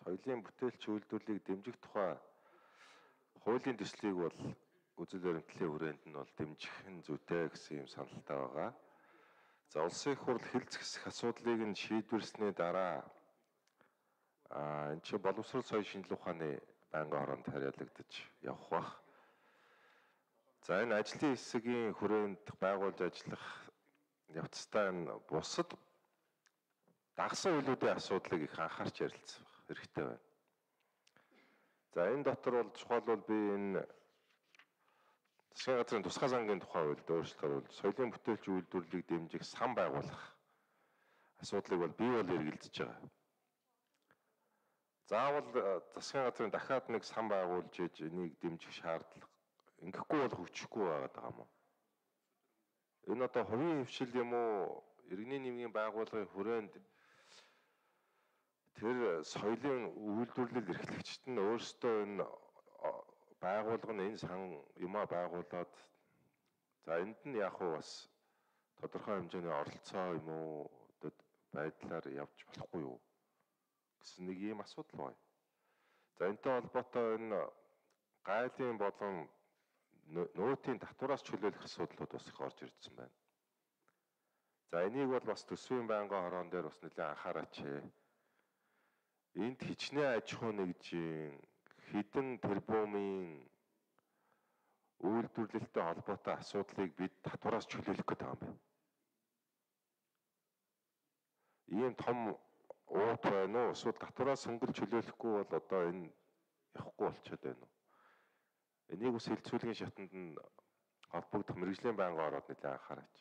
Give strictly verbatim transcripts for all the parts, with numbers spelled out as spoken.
соёлын бүтээлч үйлдвэрлэлийг дэмжих тухай хуулийн төслийг бол үзэл баримтлалын хүрээнд нь бол дэмжих нь зүйтэй гэсэн юм саналтай байгаа. За улсын их хурл хэлц хэсэх асуудлыг нь шийдвэрлсэний дараа а энэ чи боловсрол соёлын шинжилгээ ухааны байнгын хороонд хариалагдаж явах бах. За энэ ажлын хэсгийн хүрээнд байгуулж ажиллах явцдаа энэ бусад дагсан үйлүүдийн асуудлыг их анхаарч ярилцах хэрэгтэй байна. За энэ дотор бол чухал бол би энэ засгийн газрын тусгай сангийн тухай хуульд өөрчлөлт оруулж соёлын бүтээлч үйлдвэрлэлийг дэмжих сан байгуулах асуудлыг бол бий бол эргэлзэж байгаа. Заавал засгийн газрын дахиад нэг сан байгуулж иж энийг дэмжих шаардлага ингэхгүй бол хөгжихгүй байгаад байгаа юм уу? Энэ одоо хувийн хвшил юм уу? Иргэний нийгмийн байгууллагын хүрээнд тэр соёлын үйлдвэрлэл эрхлэгчид нь өөрсдөө энэ байгууллага нь энэ сан юмаа байгуулад за энд нь яг уу бас тодорхой хэмжээний оролцоо юм уу байдлаар явж болохгүй юу гэсэн нэг ийм асуудал байна. За энэтэй холбоотой энэ гайлын болон нөөтийн татвараас чөлөөлөх асуудлууд бас их орж ирсэн байна. За энийг бол бас төсвийн байнгын хороон дээр бас нэлээд анхаараач. Энд хичнээн аж ахуй нэгжийн хідэн тэрбумын үйлдвэрлэлтэй холбоотой асуудлыг бид татвараас чөлөөлөх гэдэг юм байна. Ийм том уут байна уу? Эсвэл татвараас хөнгөлж чөлөөлөхгүй бол одоо энэ явахгүй болчиход байна уу? Энийг ус хилцүүлгийн шатанд нь холбогдох мэргэжлийн байнгын ороод нэлээд анхаараач.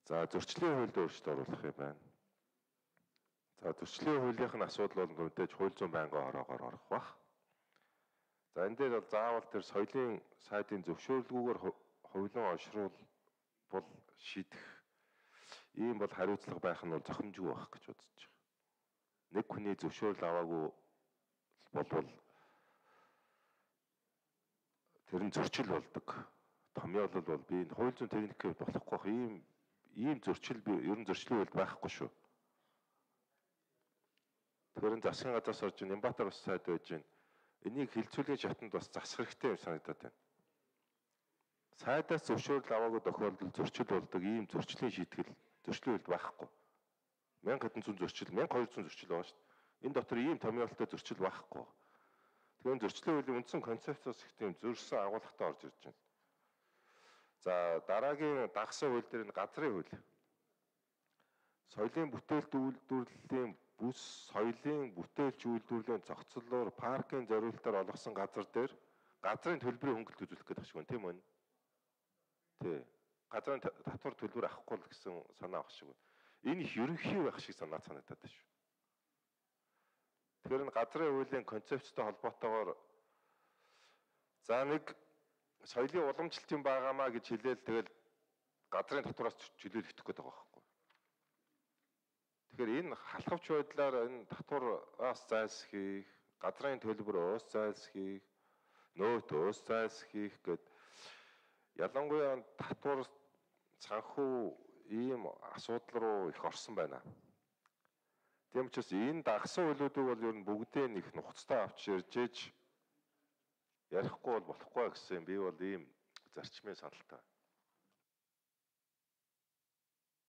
За зөрчлийн хуульд өөрчлөлт оруулах юм байна. За зөрчлийн хуулийнхын асуудал бол мэдээж хууль зүйн байнгын хороогоор орох бах. За энэ дээр бол заавал тэр соёлын сайдын зөвшөөрлгүйгээр хувилан олшруул бол шийдэх ийм бол хариуцлага байх нь бол зохимжгүй байх гэж бодож байгаа. Нэг хүний зөвшөөрөл аваагүй болвол тэр нь зөрчил болдог. Томьёолол бол би энэ хууль зүйн техникээр болохгүй бах. Ийм ийм зөрчил би ер нь зөрчлийн үед байхгүй шүү. Тэгэхээр засгийн газраас орж Нямбатар ус сайд байж байна. Энийг хилцүүлгийн шатанд бас засах хэрэгтэй юм санагдаад байна. Сайдаас зөвшөөрөл аваагүй тохиолдолд зөрчил болдог ийм зөрчлийн шийтгэл зөрчлийн үед байхгүй. мянга хэдэн зуун зөрчил, мянга хоёр зуун зөрчил байгаа шүү дээ. Энэ дотор ийм томьёолтой зөрчил байхгүй. Тэгэхээр зөрчлийн хуулийн үндсэн концепцоос их тийм зөрсөн агуулгатай орж ирж байна. За дараагийн дагсан хууль дээр нь газрын хууль. Соёлын бүтээлт үйлдвэрлэлийн бүс соёлын бүтээлч үйлдвэрлэлийн зохицлоор паркын зориулалтаар олгосон газар дээр газрын төлбөрийн хөнгөлт үзүүлэх гэдэг шиг байна, тийм үү? Тий. Газрын татвар төлбөр авахгүй л гэсэн санаа авах шиг байна. Энэ их ерөнхий байх шиг санаа санагдаад байна шүү. Тэгэхээр энэ газрын хуулийн концепцтой холбоотойгоор за нэг соёлын уламжлалт юм байгаамаа гэж хэлээл тэгэл газрын татвараас чөлөөлөх гэдэг байгаа байхгүй. Тэгэхээр энэ халахвч байдлаар энэ татвараас зайлсхийх, газрын төлбөр уус зайлсхийх, нөөт уус зайлсхийх гэд ялангуяа татвар санхүү ийм асуудал руу их орсон байна. Тийм учраас энэ дагсан хуулиудыг бол ер нь бүгдээ нэг нухацтай авч ирж ээж ярихгүй бол болохгүй гэсэн би бол ийм зарчмын саналтай.